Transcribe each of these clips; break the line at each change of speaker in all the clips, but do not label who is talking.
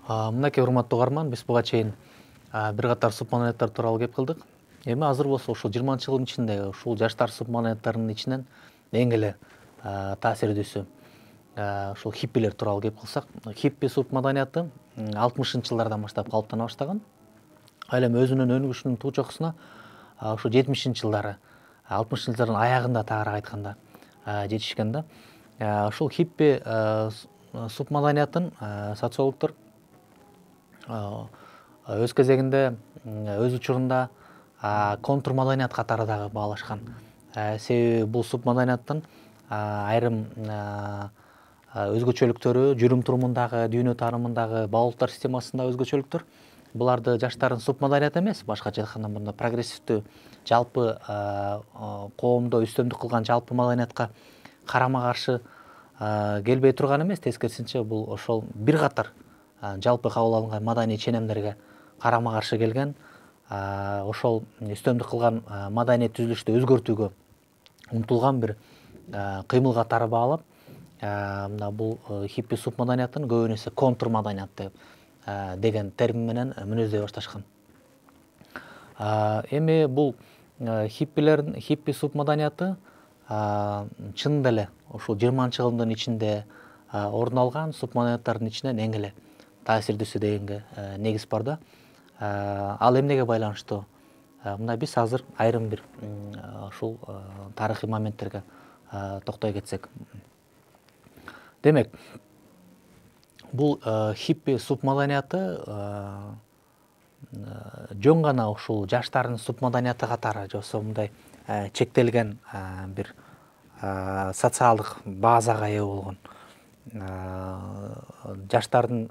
Мынакей урматтуу угарман, биз буга чейин бир катар субмаданияттар тууралуу кеп кылдык. Эми азыр болсо ушул 20-жылдын ичинде ушул жаштар субмаданияттарынын ичинен эң эле таасирдүүсү ушул хиппилер тууралуу кеп кылсак, хиппи субмаданияты 60-жылдардан баштап калыптана баштаган. Ал эми өзүнүн өнүгүшүнүн туу чокусуна ушу 70-жылдары, 60-жылдардын аягында тагыраак айтканда жетишкен да. Ушул хиппи субмаданиятын социологдор өз кезегинде өз учурунда контрмаданият катары дагы баалашкан. Себеби бул субмаданияттын айрым өзгөчөлүктөрү жүрүм турумундагы, дүйнө таанымындагы, баалуулуктар системасындагы өзгөчөлүктөр буларды жаштардын субмаданият эмес, башкача айтканда мында прогрессивдүү жалпы коомдо үстөмдүк кылган жалпы маданиятка карама каршы келбей турган эмес, тескерисинче бул ошол бир катар жалпы кабыл алынган маданий ченемдерге карама каршы келген, ошол үстөмдүк кылган маданий түзүлүштү өзгөртүүгө умтулган бир кыймыл катары баалап, мына бул хиппи субмаданиятын көбүн эсе контрмаданият деген термин менен мүнөздөй башташкан. Эми бул хиппи субмаданияты чынында эле ушул 20-жылдын ичинде орун алган субмаданияттардын ичинен эң эле таасирдүүсү дегенге негиз бар да. Ал эмнеге байланыштуу? Мына биз азыр айрым бир ушул тарыхый моменттерге токтой кетсек. Демек, бул хиппи субмаданияты жөн гана ушул жаштардын субмаданияты катары же болбосо мындай чектелген бир социалдык базага ээ болгон жаштардын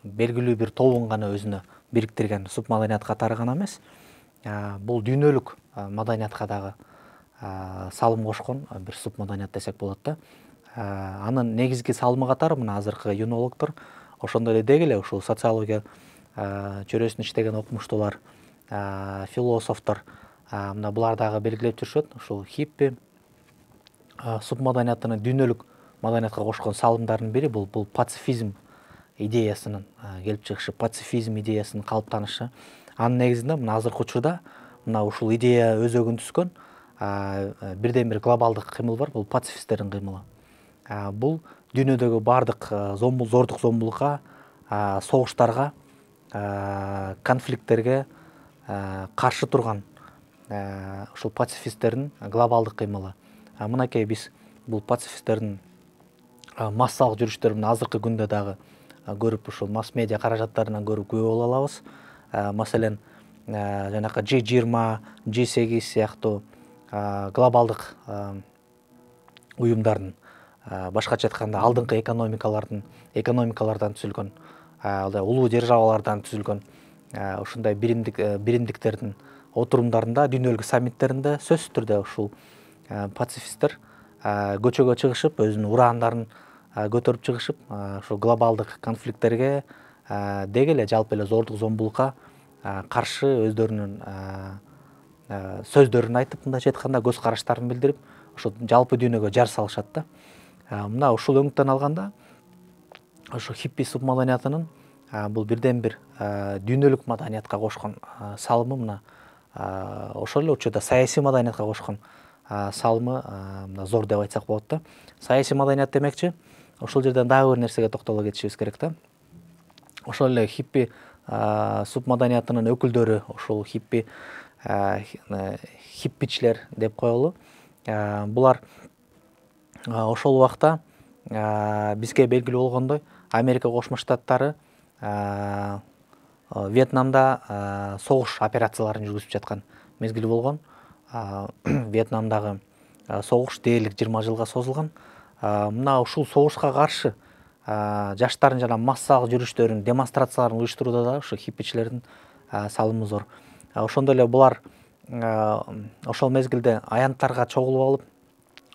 белгилүү бир тобун гана өзүнө бириктирген субмаданият катары гана эмес, бул дүйнөлүк маданиятка дагы салым кошкон бир субмаданият десек болот да. Анын негизги салымы катары мына азыркы юнологдор, ошондой эле деги эле ушул социология чөйрөсүндө иштеген окумуштуулар, философтор мына булар дагы белгилеп жүрүшөт. Ушул хиппи субмаданиятынын дүйнөлүк маданиятка кошкон салымдарынын бири бул пацифизм идеясынын келип чыгышы, пацифизм идеясынын калыптанышы. Анын негизинде мына азыркы учурда мына ушул идея өзөгүн түзгөн бирден бир глобалдык кыймыл бар, бул пацифисттердин кыймылы. Бул дүйнөдөгү баардык зордук зомбулукка, согуштарга, конфликттерге каршы турган ушул пацифисттердин глобалдык кыймылы. Мынакей биз бул пацифисттердин массалык жүрүштөрүн азыркы күндө дагы көрүп, ушул масс медиа каражаттарынан көрүп күбө боло алабыз. Маселен, жанакы G20, G8 сыяктуу глобалдык уюмдардын, башкача айтканда алдыңкы экономикалардан түзүлгөн, улуу державалардан түзүлгөн ушундай биримдиктердин отурумдарында, дүйнөлүк саммиттеринде сөзсүз түрдө ушул пацифисттер көчөгө чыгышып, өзүнүн урандарын көтөрүп чыгышып, ушул глобалдык конфликттерге деги эле жалпы эле зордук зомбулукка каршы өздөрүнүн сөздөрүн айтып, мындайча айтканда көз караштарын билдирип, ошол жалпы дүйнөгө жар салышат да. Мына ушул өңүттөн алганда, ошо хиппи субмаданиятынын бул бирден бир дүйнөлүк маданиятка кошкон салымы мына ошол эле учурда саясий маданиятка кошкон салымы мына зор деп айтсак болот да. Саясий маданият демекчи, ошол жерден дагы бир нерсеге токтоло кетишибиз керек да. Ошол эле хиппи субмаданиятынын өкүлдөрү, ошол хиппичилер деп коелу. Булар ошол убакта бизге белгилүү болгондой Америка Кошмо Штаттары Вьетнамда согуш операцияларын жүргүзүп жаткан мезгил болгон. Вьетнамдагы согуш дээрлик 20 жылга созулган. Мына ушул согушка каршы жаштардын жана массалык жүрүштөрүн, демонстрацияларын уюштурууда да ушу хиппичилердин салымы зор. Ошондой эле булар ошол мезгилде аянттарга чогулуп алып,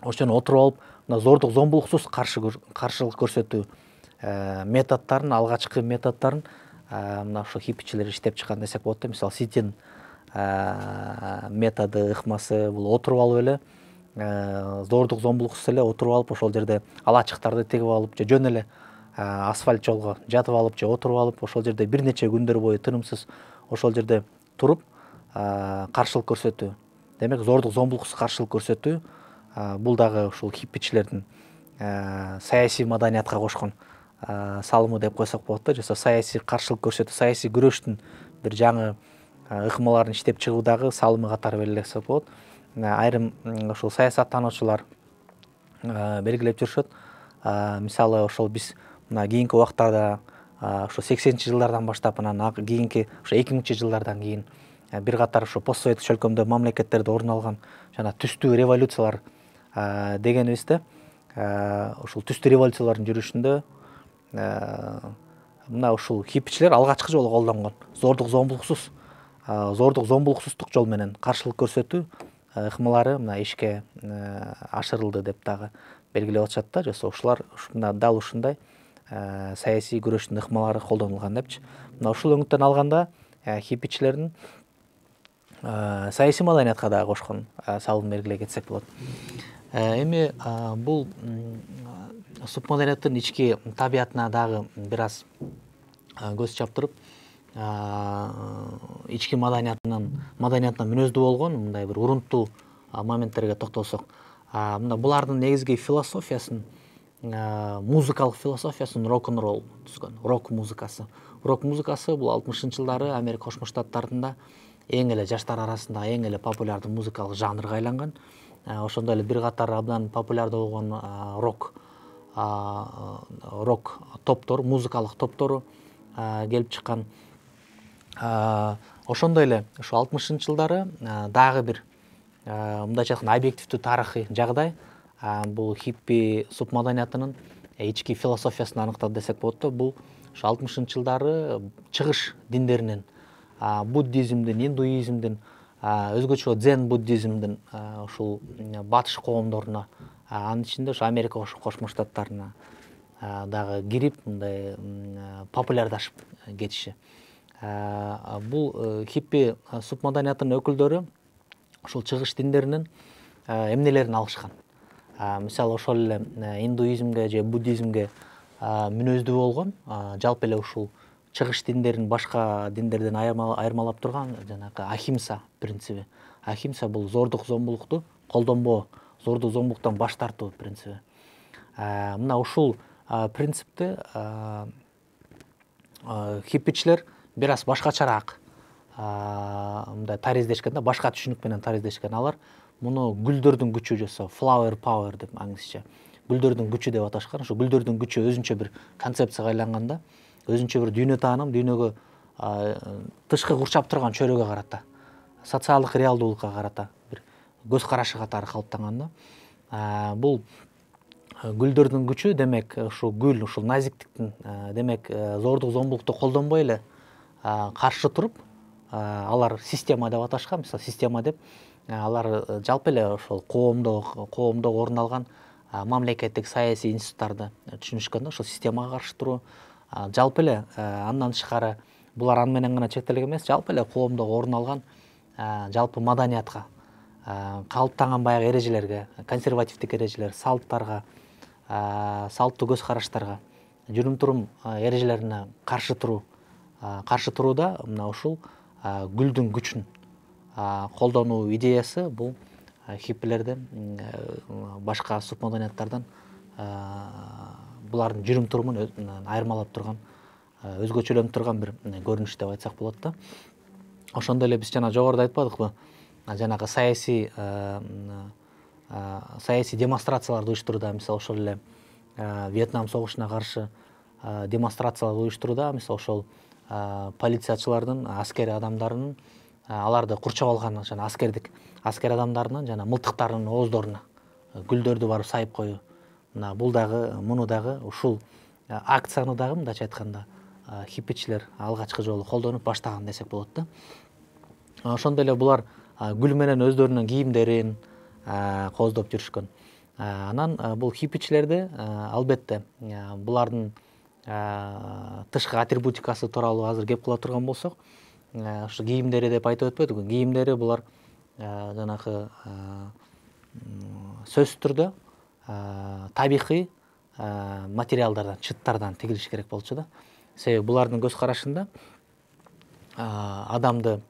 ошону отуруп алып, мына зордук зомбулуксуз каршылык көрсөтүү методдорун, алгачкы методдорун мына ошо хиппичилер иштеп чыккан десек болот да. Мисалы, ситин методу, ыкмасы бул отуруп алып эле зордук зомбулуксуз эле отуруп алып, ошол жерде ала ачыктарды тигип алып, же жөн эле асфальт жолго жатып алып же отуруп алып ошол жерде бир нече күндөр бою тынымсыз ошол жерде туруп каршылык көрсөтүү, демек зордук зомбулуксуз каршылык көрсөтүү бул дагы ушул хиппичилердин саясий маданиятка кошкон салымы деп койсок болот да. Жаса саясий каршылык көрсөтүү, саясий күрөштүн бир жаңы ыкмаларын иштеп чыгуудагы салымы катары белгилесек болот. Айрым ушул саясаттануучулар белгилеп жүрүшөт. Мисалы ошол биз мына кийинки убактарда ошо 80-чи жылдардан баштап анан кийинки ошо 2000-чи жылдардан кийин бир катар ошо пост советтик чөлкөмдө мамлекеттерде орун алган жана түстүү революциялар дегенибизде ушул түстүү революциялардын жүрүшүндө мына ушул хиппичилер алгачкы жолу колдонгон зордук зомбулуксуздук жол менен каршылык көрсөтүү ыкмалары мына ишке ашырылды деп дагы белгилеп атышат да. Жаса ушулар дал ушундай саясий күрөштүн ыкмалары колдонулган депчи. Мына ушул өңүттөн алганда хиппичилердин саясий маданиятка дагы кошкон салымын белгилей кетсек болот. Эми бул субмаданияттын ички табиятына дагы бир аз көз чаптырып, ички маданиятына мүнөздүү болгон мындай бир урунттуу моменттерге токтолсок, мына булардын негизги философиясын, музыкалык философиясын рок-н-ролл түзгөн, рок музыкасы. Рок музыкасы бул 60-чы жылдары Америка Кошмо Штаттарында эң эле жаштар арасында эң эле популярдуу музыкалык жанрга айланган. Ошондой эле бир катар абдан популярдуу болгон рок топтор, музыкалык топтору келип чыккан. Ошондой эле ошо 60-чы жылдары дагы бир мындайча айтканда объективдүү тарыхый жагдай бул хиппи субмаданиятынын ички философиясын аныктады десек болот да. Бул ошо 60-чы жылдары чыгыш диндеринен, буддизмдин, индуизмдин, өзгөчө дзен буддизмдин ушул батыш коомдоруна, анын ичинде ошо Америка Кошмо Штаттарына дагы кирип мындай популярдашып кетиши. Бул хиппи субмаданиятынын өкүлдөрү ушул чыгыш диндеринин эмнелерин алышкан. Мисалы ошол эле индуизмге же буддизмге мүнөздүү болгон жалпы эле ушул чыгыш диндерин башка диндерден айырмалап турган жанагы ахимса принциби. Ахимса бул зордук зомбулукту колдонбоо, зордук зомбулуктан баш тартуу принциби. Мына ушул принципти хиппичилер бир аз башкачараак мындай тариздешкен да, башка түшүнүк менен тариздешкен. Алар муну гүлдөрдүн күчү жаса flower power деп англисче гүлдөрдүн күчү деп аташкан. Ошо гүлдөрдүн күчү өзүнчө бир концепцияга айланганда, өзүнчө бир дүйнө тааным, дүйнөгө тышкы курчап турган чөйрөгө карата, социалдык реалдуулукка карата бир көз карашы катары калыптанган да. Бул гүлдөрдүн күчү демек ушул гүл, ушул назиктиктин демек зордук зомбулукту колдонбой эле каршы туруп, алар система деп аташкан. Мисалы система деп алар жалпы эле ошол коомдо орун алган мамлекеттик саясий институттарды түшүнүшкөн да. Ошол системага каршы туруу, жалпы эле андан тышкары булар аны менен гана чектелген эмес, жалпы эле коомдо орун алган жалпы маданиятка, калыптанган баягы эрежелерге, консервативдик эрежелер, салттарга, салттуу көз караштарга, жүрүм-турум эрежелерине каршы турууда мына ушул гүлдүн күчүн колдонуу идеясы бул хиппилердин башка субмаданияттардан булардын жүрүм-турумун айырмалап турган, өзгөчөлөнүп турган бир көрүнүш деп айтсак болот да. Ошондой эле биз жана жогоруда айтпадыкпы, жанагы саясий демонстрацияларды уюштурууда, мисалы ошол эле Вьетнам согушуна каршы демонстрациялар уюштурууда, мисалы ошол полициячылардын, аскер адамдарынын аларды курчап алган жана аскер адамдарынын жана мылтыктарынын ооздоруна гүлдөрдү барып сайып коюу. Мына бул дагы, муну дагы ушул акцияны дагы мындайча айтканда хиппичилер алгачкы жолу колдонуп баштаган десек болот да. Ошондой эле булар гүл менен өздөрүнүн кийимдерин кооздоп жүрүшкөн. Анан бул хиппичилерди албетте булардын тышкы атрибутикасы тууралуу азыр кеп кыла турган болсок, ушу кийимдери деп айтып өтпөдүкпү? Кийимдери булар жанагы сөзсүз түрдө табигый материалдардан, чыттардан тигилиш керек болчу да. Себеби булардын көз карашында адамды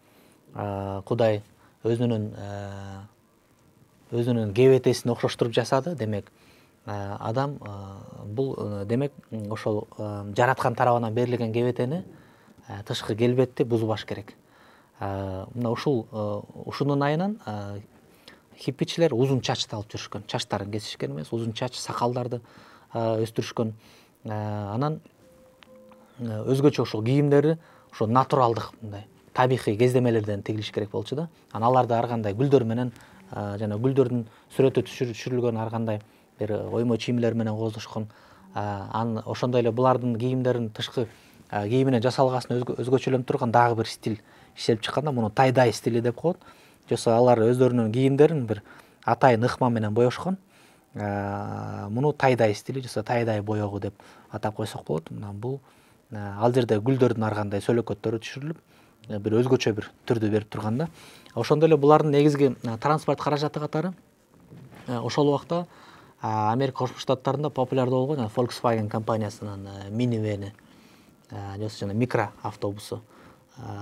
Кудай өзүнүн кебетесине окшоштуруп жасады. Демек адам бул демек ошол жараткан тарабынан берилген кебетени тышкы келбетти бузбаш керек. Мына ушунун айынан хиппичилер узун чачты алып жүрүшкөн. Чачтарын кесишкен эмес, узун чач, сакалдарды өстүрүшкөн. Анан өзгөчө ошол кийимдери ошо натуралдык, мындай табигый кездемелерден тигилиш керек болчу да. Анан аларды ар кандай гүлдөр менен жана гүлдөрдүн сүрөтү түшүрүлгөн ар кандай бир оймо чийимлер менен кооздошкон. Ошондой эле булардын кийимдерин тышкы кийиминен жасалгасын өзгөчөлөнтүп турган дагы бир стиль иштелип чыкканда, муну тай-дай стили деп коет. Жоксо алар өздөрүнүн кийимдерин бир атайын ыкма менен боешкон. Муну тай-дай стили, жоксо тай-дай боегу деп атап койсок болот. Мына бул ал жерде гүлдөрдүн ар кандай сөлөкөттөрү түшүрүлүп, бир өзгөчө бир түрдү берип турган да. Ошондой эле булардын негизги транспорт каражаты катары ошол убакта Америка Кошмо Штаттарында популярдуу болгон Volkswagen компаниясынын минивени, жоксо жана микро автобусу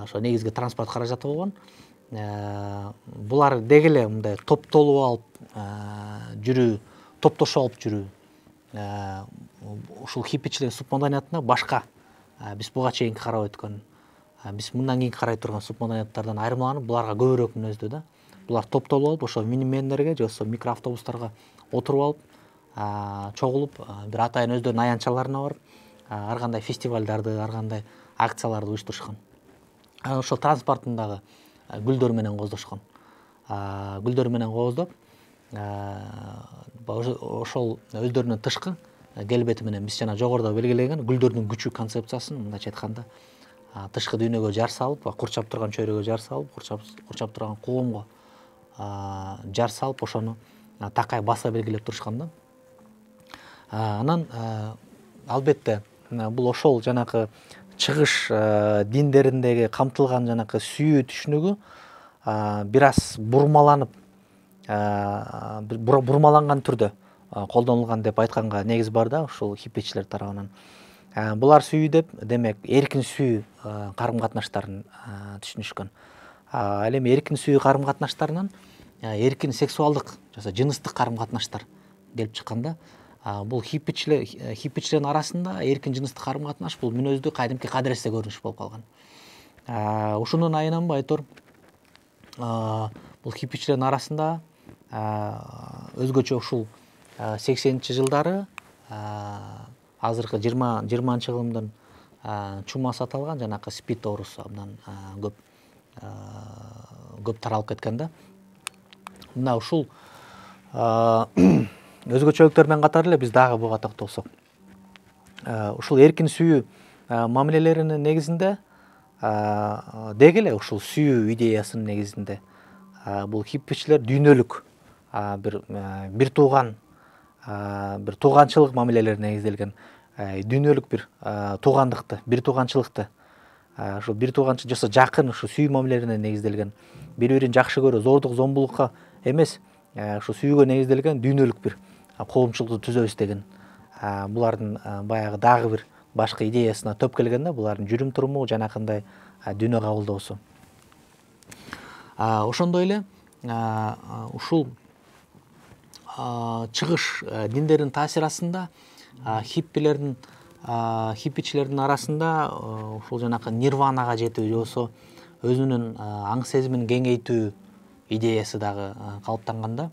ошо негизги транспорт каражаты болгон. Булар деги эле мындай топтолуп алып жүрүү, топтошуп алып жүрүү. Ушул хиппичилер субмаданиятына башка биз буга чейинки карап өткөн, биз мындан кийинки карай турган субмаданияттардан айырмаланып, буларга көбүрөөк мүнөздүү да. Булар топтолуп алып, ошо минивендерге жоксо микроавтобустарга отуруп алып, чогулуп, бир атайын өздөрүнүн аянтчаларына барып, ар кандай фестивалдарды, ар кандай акцияларды уюштурушкан. Ошол транспортун дагы гүлдөр менен кооздошкон. Гүлдөр менен кооздоп, ошол өздөрүнүн тышкы келбети менен биз жана жогоруда белгилеген гүлдөрдүн күчү концепциясын, мындайча айтканда, тышкы дүйнөгө жар салып, курчап турган чөйрөгө жар салып, курчап турган коомго жар салып, ошону такай баса белгилеп турушкан да. Анан албетте бул ошол жанакы чыгыш диндериндеги камтылган жанакы сүйүү түшүнүгү бир аз бурмаланган түрдө колдонулган деп айтканга негиз бар да, ушул хиппичилер тарабынан. Булар сүйүү деп, демек, эркин сүйүү карым-катнаштарын түшүнүшкөн. Ал эми эркин сүйүү карым-катнаштарынан эркин сексуалдык, жыныстык карым-катнаштар келип чыкканда, бул хиппичилердин арасында эркин жыныстык карым-катнаш бул мүнөздүү кадимки кадыресте көрүнүш болуп калган. Ушунун айынан айтор, бул хиппичилердин арасында өзгөчө ушул 80-жылдары азыркы 20-чы кылымдын чумасы аталган жанакы спид оорусу абдан көп таралып кеткен да. Мына ушул өзгөчөлүктөр менен катар эле биз дагы буга токтолсок, ушул эркин сүйүү мамилелеринин негизинде деги эле ушул сүйүү идеясынын негизинде бул хиппичилер дүйнөлүк бир тууганчылык мамилелерине негизделген, дүйнөлүк бир туугандыкты, бир тууганчылыкты, ушу бир тууганчы жоксо жакын ушу сүйүү мамилелерине негизделген, бири-бирин жакшы көрүү, зордук зомбулукка эмес, ушу сүйүүгө негизделген дүйнөлүк бир коомчулукты түзөбүз деген булардын баягы дагы бир башкы идеясына төп келген да, булардын жүрүм туруму, жанакындай дүйнө кабылдоосу. Ошондой эле ушул чыгыш диндердин таасири астында хиппичилердин арасында ушул жанакы нирванага жетүү, жоксо өзүнүн аң сезимин кеңейтүү идеясы дагы калыптанган да.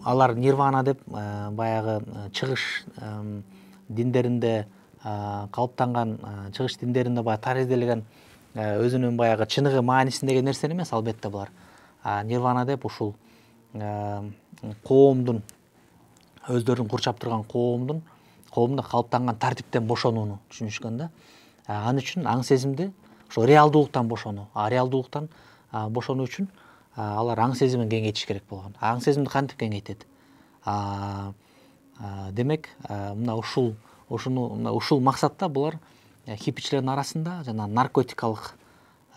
Алар нирвана деп баягы чыгыш диндеринде калыптанган, чыгыш диндеринде баягы таризделген өзүнүн баягы чыныгы маанисиндеги нерсени эмес, албетте булар нирвана деп ушул коомдун, өздөрүн курчап турган коомдун калыптанган тартиптен бошонууну түшүнүшкөн да. Ал үчүн аң сезимди ошо реалдуулуктан бошонуу үчүн алар аң сезимин кеңейтиш керек болгон. Аң сезимди кантип кеңейтет? Демек, мына ушул максатта булар хиппичилердин арасында жана наркотикалык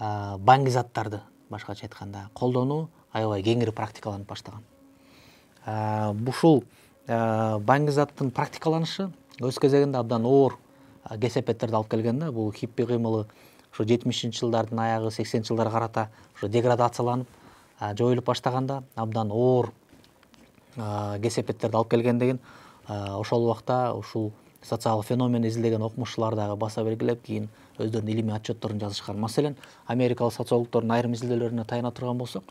баңги заттарды, башкача айтканда, колдонуу аябай кеңири практикаланып баштаган. Ушул баңгизаттын практикаланышы өз кезегинде абдан оор кесепеттерди алып келген да. Бул хиппи кыймылы ошо 70 жылдардын аягы 80 жылдарга карата ошо деградацияланып жоюлуп баштаганда абдан оор кесепеттерди алып келгендигин ошол убакта ушул социалдык феномен изилдеген окумуштуулар дагы баса белгилеп, кийин өздөрүнүн илимий отчетторун жазышкан. Маселен, америкалык социологдордун айрым изилдөөлөрүнө таяна турган болсок,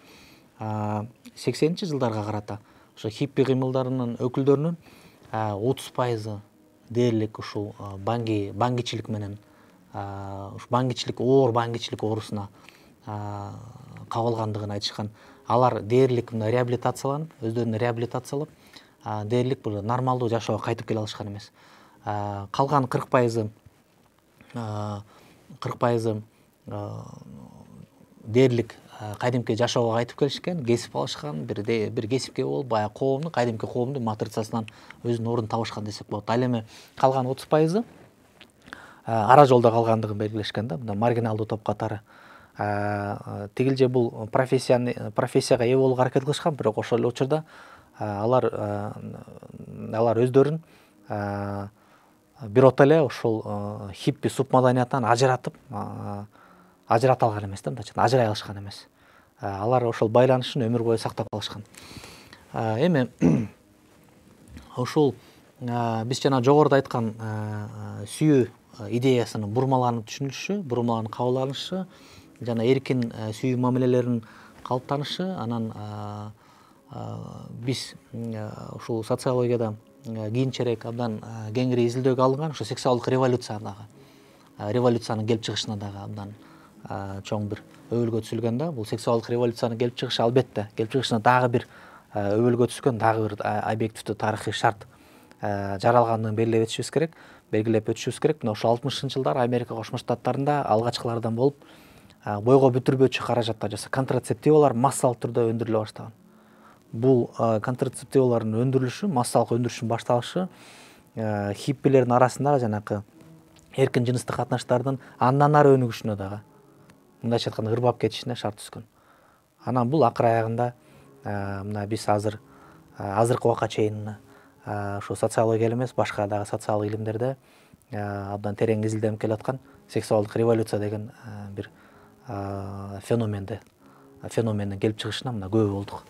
80-жылдарга карата ошо хиппи кыймылдарынын өкүлдөрүнүн 30% дээрлик ушул баңгичилик менен баңгичилик оор баңгичилик оорусуна кабылгандыгын айтышкан. Алар дээрлик мына реабилитацияланып, өздөрүн реабилитациялап, дээрлик бул нормалдуу жашоого кайтып келе алышкан эмес. Калган 40% дээрлик кадимки жашоого кайтып келишкен, кесип алышкан, бир кесипке болуп, баягы коомдун, кадимки коомдун матрицасынан өзүнүн ордун табышкан десек болот. Ал эми калган 30% ара жолдо калгандыгын белгилешкен да, мына маргиналдуу топ катары. Тигилже бул профессияга ээ болууга аракет кылышкан, бирок ошол эле учурда алар өздөрүн бирото эле ушул хиппи субмаданиятынан ажырата алган эмес да, мындайча ажырай алышкан эмес. Алар ошол байланышын өмүр бою сактап калышкан. Эми ушул биз жана жогоруда айткан сүйүү идеясынын бурмаланып түшүнүлүшү, бурмаланып кабыл алынышы жана эркин сүйүү мамилелеринин калыптанышы, анан биз ушул социологияда кийинчерээк абдан кеңири изилдөөгө алынган ошо сексуалдык революциянын келип чыгышына дагы абдан чоң бир өбөлгө түзүлгөн да. Бул сексуалдык революциянын келип чыгышы албетте келип чыгышына дагы бир өбөлгө түшкөн дагы бир объективдүү тарыхый шарт жаралгандыгын белгилеп өтүшүбүз керек. Мына ошо 60-жылдар Америка Кошмо Штаттарында алгачкылардан болуп бойго бүтүрбөчү каражатта контрацептивалар массалык түрдө өндүрүлө баштаган. Бул контрацептивалардын өндүрүлүшү, массалык өндүрүшүнүн башталышы хиппилердин арасындагы жанакы эркин жыныстык катнаштардын андан ары өнүгүшүнө дагы, мындайча айтканда, ырбап кетишине шарт түзгөн. Анан бул акыр аягында мына биз азыркы убакка чейин ушу социология эле эмес, башка дагы социалдык илимдерде абдан терең изилденип келаткан сексуалдык революция деген бир феномендин келип чыгышына мына күбө болдук.